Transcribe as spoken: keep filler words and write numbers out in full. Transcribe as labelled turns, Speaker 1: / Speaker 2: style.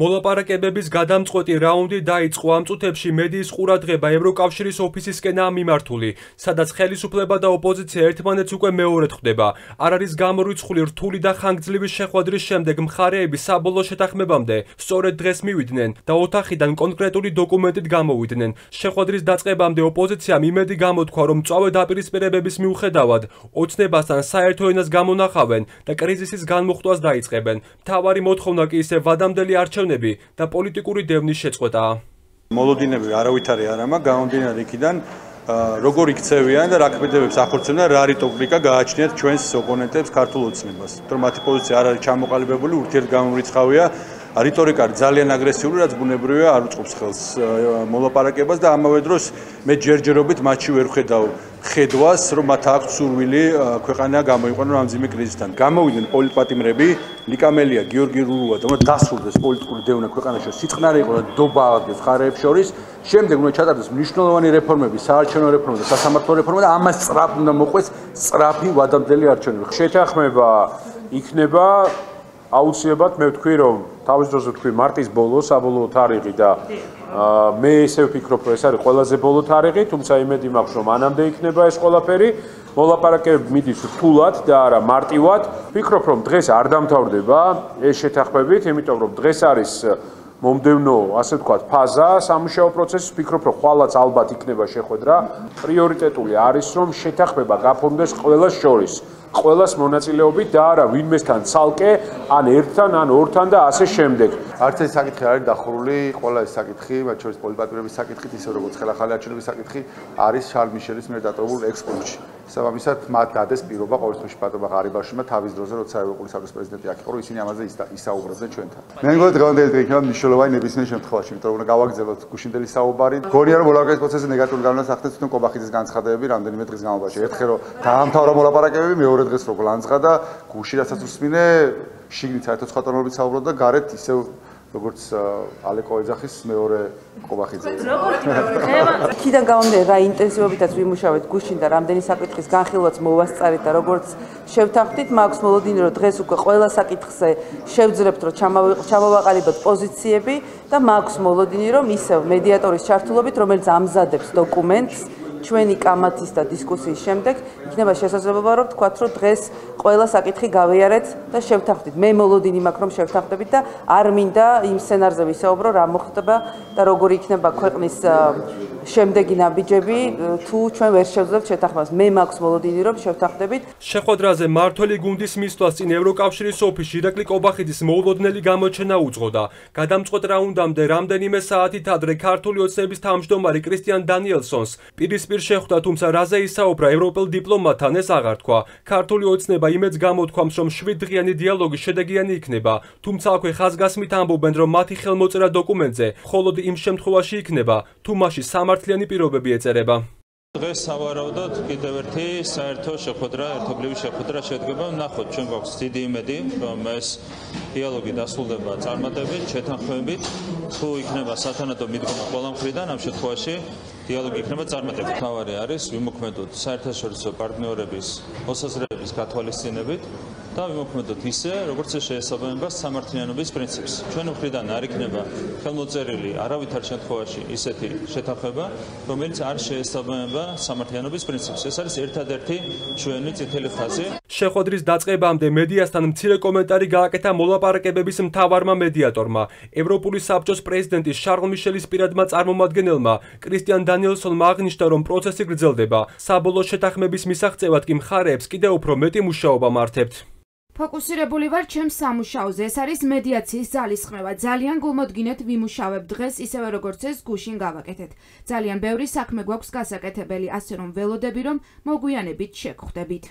Speaker 1: მოლაპარაკებების გადამწყვეტი რაუნდი დაიწყო ამ წუთებში მედიის ყურადღება ევროკავშირის ოფისისკენაა მიმართული, სადაც ხელისუფლება და ოპოზიცია ერთმანეთს უკვე მეორედ ხვდება. არ არის გამორიცხული რთული და ხანგრძლივი შეხვედრის შემდეგ მხარეები საბოლოო შეთანხმებამდე სწორედ დღეს მივიდნენ და ოთახიდან კონკრეტული დოკუმენტით გამოვიდნენ. შეხვედრის დაწყებამდე ოპოზიციამ იმედი გამოთქვა, რომ მწვავე დაპირისპირებების მიუხედავად ოცნებასთან საერთო ენას გამონახავენ და კრიზისის განმუხტვას დაიწყებენ. მთავარი მოთხოვნა კი ისევ ვადამდელი არჩევნები და პოლიტიკური დევნის შეწყვეტაა.
Speaker 2: მოლოდინები არავითარი არ ამა, გამომდინარე იქიდან როგორ იქცევიან და რა ქმედებებს ახორციელებენ და რა რიტორიკა გააჩნიათ ჩვენს ოპონენტებს ქართულ ოცნებას. თორემ მათი პოზიცია არ არის ჩამოყალიბებული, ურთიერთგამომრიცხავია, რიტორიკა ძალიან აგრესიული, რაც ბუნებრივია არ უწყობს ხელს მოლაპარაკებას და ამავე დროს მე ჯერჯერობით მათში ვერ ხედავ ხედვას, რომ მათ აქვს სურვილი ქვეყანა გამოიყვანონ ამ ძიმე კრიზისთან. გამოვიდნენ პოლიტპატიმრები, ლიკამელია, გიორგი რურუა და უნდა დასრულდეს პოლიტიკური დევნა ქვეყანაში, სიწყნარი იყო და დობა აღდგეს მხარეებს შორის. შემდეგ უნდა ჩატარდეს მნიშვნელოვანი რეფორმები, საარჩევნო რეფორმა და სასამართლო რეფორმა და ამას სწრაფად უნდა მოყვეს სწრაფი ვადამდელი არჩევნები.
Speaker 3: შეთანხმება იქნება აუცილებლად მე ვთქვი რომ თავის დროზე ვთქვი მარტის ბოლო საბოლოო თარიღი და მე ისევ ვფიქრობ რომ ეს არის ყველაზე ბოლო თარიღი, თუმცა იმედი მაქვს რომ მანამდე იქნება ეს ყველაფერი. მოლაპარაკებები მიდის რთულად და არა მარტივად. ვფიქრობ რომ დღეს არ დამთავრდება ეს შეთანხმებით, იმიტომ რომ დღეს არის მომდევნო, ასე ვთქვათ, ფაზა სამუშაო პროცესის. ვფიქრობ რომ ხვალაც ალბათ იქნება შეხვედრა. პრიორიტეტული არის რომ შეთანხმება გაფორმდეს ყველას შორის. ყველას მონაწილეობით და არა ვინმესთან ცალკე, ან ერთთან, ან ორთან და ასე შემდეგ.
Speaker 4: არც ეს საკითხი არ არის დახურული, ყველა ეს საკითხი, მათ შორის პოლიტპატიმრების საკითხით, ისე როგორც ხელახალი არჩევნების საკითხი, არის შარლ მიშელის მიერ დატოვებულ ექსპორტში. შესაბამისად, მათ დადეს პირობა ყოველ შემთხვევაში პატრონმა ღარიბაშვილმა თავის დროზე, როცა ევროპული საბჭოს პრეზიდენტი აქ იყო, რომ ისინი ამაზე ისაუბრებდნენ ჩვენთან. მე მგონი დღევანდელი დღე იქნება მნიშვნელოვანი ნებისმიერ შემთხვევაში, იმიტომ რომ უნდა გავაგრძელოთ გუშინდელი საუბარი. გონია რომ მოლაპარაკების პროცესზე ნეგატიური გავლენას ახდენს თვითონ კობახიძის განცხადებები რამდენიმე დღის განმავლობაში. ერთხელ რომ დაამთავრა მოლაპარაკებები, მეორე დღეს რო გლანძღა და გუში რასაც უსმინე, შიგნით საერთო სხვატონობით საუბრობდა და გარეთ ისევ როგორც ალეკო ეძახის მეორე კობახიძე.
Speaker 5: იქიდან გამომდინარე რა ინტენსივობითაც ვიმუშავეთ გუშინ და რამდენი საკითხის განხილვაც მოვასწარეთ და როგორც შევთანხმდით, მაქვს მოლოდინი რომ დღეს უკვე ყველა საკითხზე შევძლებთ რომ ჩამოვაყალიბოთ პოზიციები და მაქვს მოლოდინი რომ ისევ მედიატორის ჩართულობით, რომელიც ამზადებს დოკუმენტს ჩვენი კამათის და დისკუსიის შემდეგ იქნება შესაძლებლობა რომ ვთქვათ რომ დღეს ყველა საკითხი გავიარეთ და შევთანხმდით. მე მოლოდინი მაქვს რომ შევთანხმდებით და არ მინდა იმ სცენარზე ვისაუბრო რა მოხდება და როგორი იქნება ქვეყნის შემდეგი ნაბიჯები თუ ჩვენ ვერ შევძლებთ შეთანხმებას. მე მაქვს მოლოდინი რომ შევთანხმდებით.
Speaker 1: შეხვედრაზე მმართველი გუნდის მისვლას წინ ევროკავშირის ოფისში ირაკლი კობახიძის მოულოდნელი გამოჩენა უძღოდა. გადამწყვეტ რაუნდამდე რამდენიმე საათით ადრე ქართული ოცნების თავმჯდომარე კრისტიან დანიელსონს პირისპირ შეხვდა, თუმცა რაზე ისაუბრა ევროპელ დიპლომატთან ეს აღარ თქვა. ქართული ოცნება იმედს გამოთქვამს, რომ შვიდდღიანი დიალოგი შედეგიანი იქნება, თუმცა აქვე ხაზგასმით ამბობენ, რომ მათი ხელმოწერა დოკუმენტზე მხოლოდ იმ შემთხვევაში იქნება, თუ მასში სამართლიანი პირობები ეწერება.
Speaker 6: დღეს სავარაუდოდ კიდევ ერთი საერთო შეხვედრა, ერთობლივი შეხვედრა შედგება. ნახოთ, ჩვენ გვაქვს დიდი იმედი, რომ ეს დიალოგი დასრულდება წარმატებით, შეთანხმებით. თუ იქნება სათანადო მიდგომა ყველა მხრიდან, ამ შემთხვევაში დიალოგი იქნება წარმატებით. თავარი არის ვიმოქმედოთ საერთაშორისო პარტნიორების მოსაზრებების გათვალისწინებით და ვიმოქმედოთ ისე, როგორც ეს შეესაბამება სამართლიანობის პრინციპს. ჩვენი მხრიდან არ იქნება ხელმოწერილი არავითარ შემთხვევაში ისეთი შეთანხმება, რომელიც არ შეესაბამება სამართლიანობის პრინციპს. ეს არის ერთადერთი ჩვენი წითელი ხაზი.
Speaker 1: შეხვედრის დაწყებამდე მედიასთან მცირე კომენტარი გააკეთა მოლაპარაკებების მთავარმა მედიატორმა, ევროპული საბჭოს პრეზიდენტის შარლ მიშელის პირადმა წარმომადგენელმა კრისტიან დანიელსონმა აღნიშნა, რომ პროცესი გრძელდება. საბოლოო შეთანხმების მისაღწევად კი მხარეებს კიდევ უფრო მეტი მუშაობა მართავთ.
Speaker 7: ფოკუსირებული ვარ ჩემს სამუშაოზე. ეს არის მედიაციის ძალისხმევა. ძალიან გულმოდგინეთ ვიმუშავებ დღეს ისევე როგორც ეს გუშინ გავაკეთეთ. ძალიან ბევრი საქმე გვაქვს გასაკეთებელი, ასე რომ ველოდები რომ მოგვიანებით შეგხვდებით.